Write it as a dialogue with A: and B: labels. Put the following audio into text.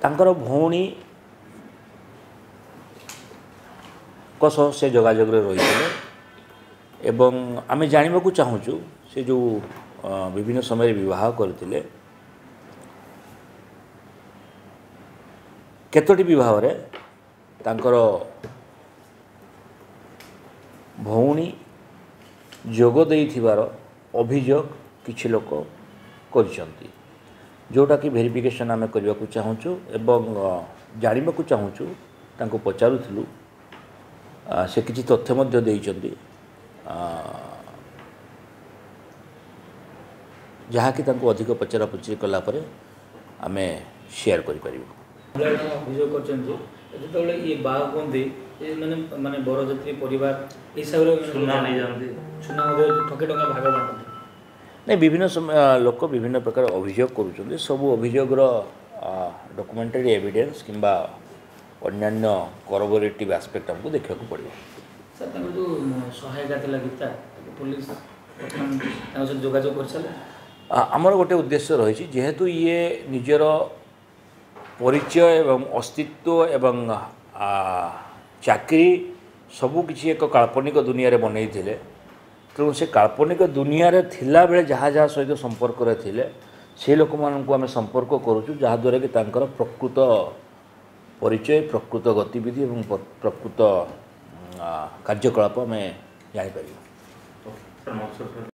A: ତାଙ୍କର ଭଉଣୀଙ୍କ ସହ ସେ ଯୋଗାଯୋଗରେ ରହିଥିଲେ ଏବଂ ଆମେ ଜାଣିବାକୁ ଚାହୁଁଛୁ ସେ ଯେଉଁ ବିଭିନ୍ନ ସମୟରେ ବିବାହ କରିଥିଲେ, କେତୋଟି ବିବାହରେ ତାଙ୍କର ଭଉଣୀ ଯୋଗ ଦେଇଥିବାର ଅଭିଯୋଗ କିଛି ଲୋକ କରିଛନ୍ତି, ଯେଉଁଟାକି ଭେରିଫିକେସନ୍ ଆମେ କରିବାକୁ ଚାହୁଁଛୁ ଏବଂ ଜାଣିବାକୁ ଚାହୁଁଛୁ। ତାଙ୍କୁ ପଚାରୁଥିଲୁ, ସେ କିଛି ତଥ୍ୟ ମଧ୍ୟ ଦେଇଛନ୍ତି, ଯାହାକି ତାଙ୍କୁ ଅଧିକ ପଚରାପଚରି କଲା ପରେ ଆମେ ସେୟାର କରିପାରିବୁ।
B: ଅଭିଯୋଗ କରିଛନ୍ତି ଯେତେବେଳେ ଇଏ ବାହା ହୁଅନ୍ତି, ମାନେ ମାନେ ବରଯାତ୍ରୀ ପରିବାର ହିସାବରେ
C: ସୁନା ନେଇଯାଆନ୍ତି,
B: ସୁନା ମଧ୍ୟ ଠକେ ଟଙ୍କା ଭାଗ ବାଣ୍ଟନ୍ତି।
A: ନାଇଁ, ବିଭିନ୍ନ ସମୟ ଲୋକ ବିଭିନ୍ନ ପ୍ରକାର ଅଭିଯୋଗ କରୁଛନ୍ତି। ସବୁ ଅଭିଯୋଗର ଡକୁମେଣ୍ଟାରୀ ଏଭିଡେନ୍ସ କିମ୍ବା ଅନ୍ୟାନ୍ୟ କରବୋରେଟିଭ୍ ଆସ୍ପେକ୍ଟ ଆମକୁ ଦେଖିବାକୁ ପଡ଼ିବ।
B: ସାର୍, ତାଙ୍କର ଯେଉଁ ସହାୟିକା ଥିଲା ଗୀତା, ତାକୁ ପୋଲିସ ବର୍ତ୍ତମାନ ତାଙ୍କ ସହିତ ଯୋଗାଯୋଗ କରିସାରିଲେ?
A: ଆମର ଗୋଟେ ଉଦ୍ଦେଶ୍ୟ ରହିଛି, ଯେହେତୁ ଇଏ ନିଜର ପରିଚୟ ଏବଂ ଅସ୍ତିତ୍ୱ ଏବଂ ଚାକିରି ସବୁକିଛି ଏକ କାଳ୍ପନିକ ଦୁନିଆରେ ବନେଇଥିଲେ, ତେଣୁ ସେ କାଳ୍ପନିକ ଦୁନିଆରେ ଥିଲାବେଳେ ଯାହା ଯାହା ସହିତ ସମ୍ପର୍କରେ ଥିଲେ ସେ ଲୋକମାନଙ୍କୁ ଆମେ ସମ୍ପର୍କ କରୁଛୁ, ଯାହାଦ୍ୱାରା କି ତାଙ୍କର ପ୍ରକୃତ ପରିଚୟ, ପ୍ରକୃତ ଗତିବିଧି ଏବଂ ପ୍ରକୃତ କାର୍ଯ୍ୟକଳାପ ଆମେ ଜାଣିପାରିବୁ।